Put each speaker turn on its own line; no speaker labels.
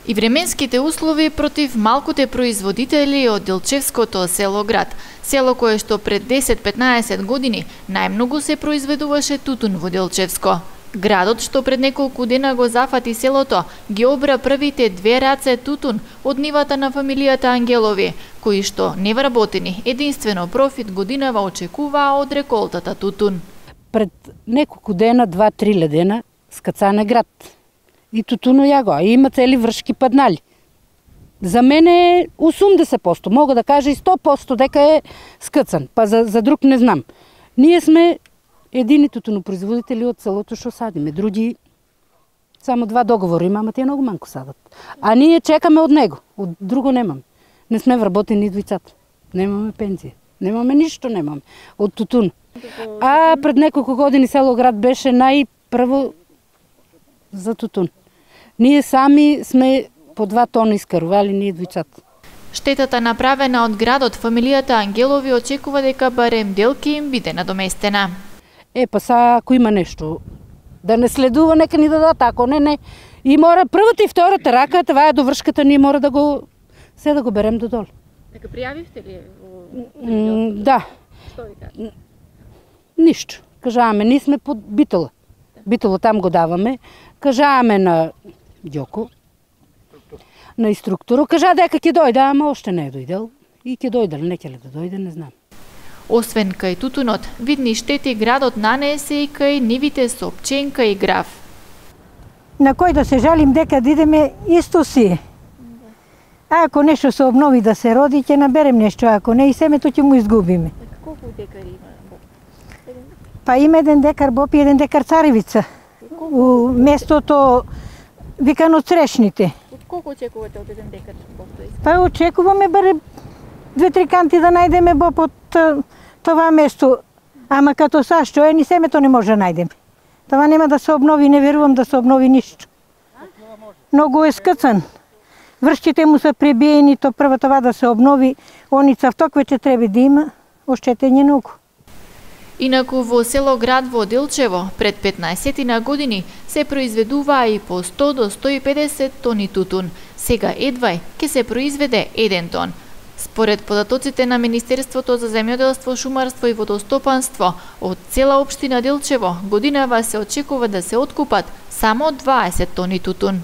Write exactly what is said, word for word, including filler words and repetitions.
И временските услови против малкуте производители од Делчевското село град, село кое што пред десет-петнаесет години најмногу се произведуваше тутун во Делчевско. Градот што пред неколку дена го зафати селото, ги обра првите две раце тутун од нивата на фамилијата Ангелови, кои што невработени единствено профит годинава очекуваа од реколтата тутун.
Пред неколку дена, два-три ледена, скацане град. И тутуно ја го, и има цели вршки паднали. За мене осумдесет проценти, мога да кажа и сто проценти дека е скацан, па за, за друг не знам. Ние сме едини тутунопроизводители од селото што садиме, други само два договори има, ама тие многу манко садат. А ние чекаме од него, од друго немаме. Не сме вработени двицата, немаме пензија, немаме ништо, немаме од тутун. А пред неколку години село град беше најпрво за тутун. Ние сами сме по два тона искарували ние двицата.
Штетата направена од градот, фамилијата Ангелови очекува дека барем дел ќе им биде надоместена.
Е, па са, ако има нешто, да не следува, нека ни дадат, ако не, не. И мора првата и втората рака, това е довршката, ние мора да го, се да го берем додолу.
Дека пријавивте ли?
М, да.
Што ви кажа?
Ништо. Кажаваме, ние сме под Битола. Битола там го даваме. Кажаваме на Ѓоко, на инструктора, кажа дека ќе дојде, ама още не е дојдел. И ќе дојде, не ќе ли да дојде, не знам.
Освен кај тутунот, видни штети градот нанесе и кај нивите со пченка и граф.
На кој да се жалим дека да идеме исто си. А ако нешто се обнови да се роди, ќе наберем нешто, ако не и семето ќе му изгубиме.
Колку декари има?
Па има еден декар боб и еден декар царевица. У местото викано Црешните.
Од колку очекувате од еден декар боб?
Па очекуваме баре две-три канти да најдеме боб од това место. Ама като са што е, ни семето не може да најдеме. Това нема да се обнови, не верувам да се обнови ништо. Многу е скъцан. Вршките му са пребиени, то прво това да се обнови. Они цавток вече треба да има, оштетење многу.
Инаку во село град во Делчево пред петнаесет години се произведуваа и по сто до сто и педесет тони тутун. Сега едвај ќе се произведе еден тон. Според податоците на Министерството за земјоделство, шумарство и водостопанство, од цела општина Делчево годинава се очекува да се откупат само дваесет тони тутун.